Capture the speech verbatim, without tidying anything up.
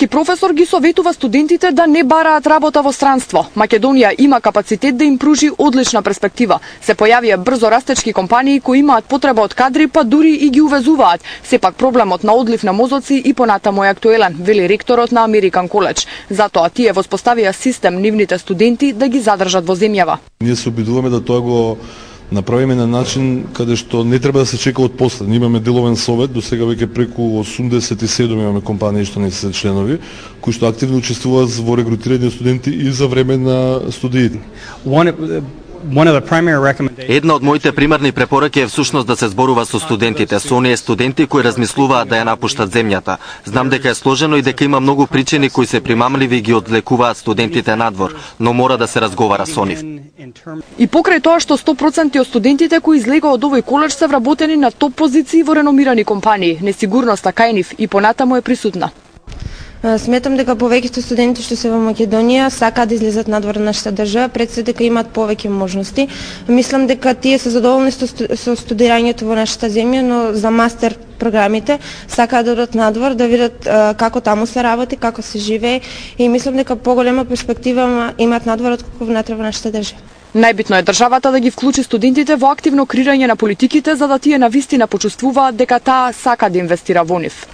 Професор ги советува студентите да не бараат работа во странство. Македонија има капацитет да им пружи одлична перспектива. Се појавија брзо растечки компании кои имаат потреба од кадри, па дури и ги увезуваат. Сепак проблемот на одлив на мозоци и понатаму е актуелен, вели ректорот на Американ коледж. Затоа тие воспоставија систем нивните студенти да ги задржат во земјава. Ние се обидуваме да тоа го направиме на начин каде што не треба да се чека од после. Ние имаме деловен совет, до сега веќе преку осумдесет и седум имаме компании што не се членови, кои што активно учествуваат во регрутирање студенти и за време на студиите. Една од моите примерни препораки е всушност да се зборува со студентите, со оние студенти кои размислуваат да ја напуштат земјата. Знам дека е сложено и дека има многу причини кои се примамливи и ги одлекуваат студентите надвор, но мора да се разговара со нив. И покрај тоа што сто проценти од студентите кои излегоа од овој коледж се вработени на топ позиции во реномирани компании, несигурноста кај нив и понатаму е присутна. Сметам дека повеќето студенти што се во Македонија сакаат да излезат надвор на нашата држава, пред се дека имаат повеќе можности. Мислам дека тие се задоволни со студирањето во нашата земја, но за мастер програмите сакаат да одат надвор, да видат како таму се работи, како се живее и мислам дека поголема перспектива имаат надвор отколку внатре во нашата држава. Најбитно е државата да ги вклучи студентите во активно креирање на политиките за да тие навистина почувствуваат дека таа сака да инвестира во нив.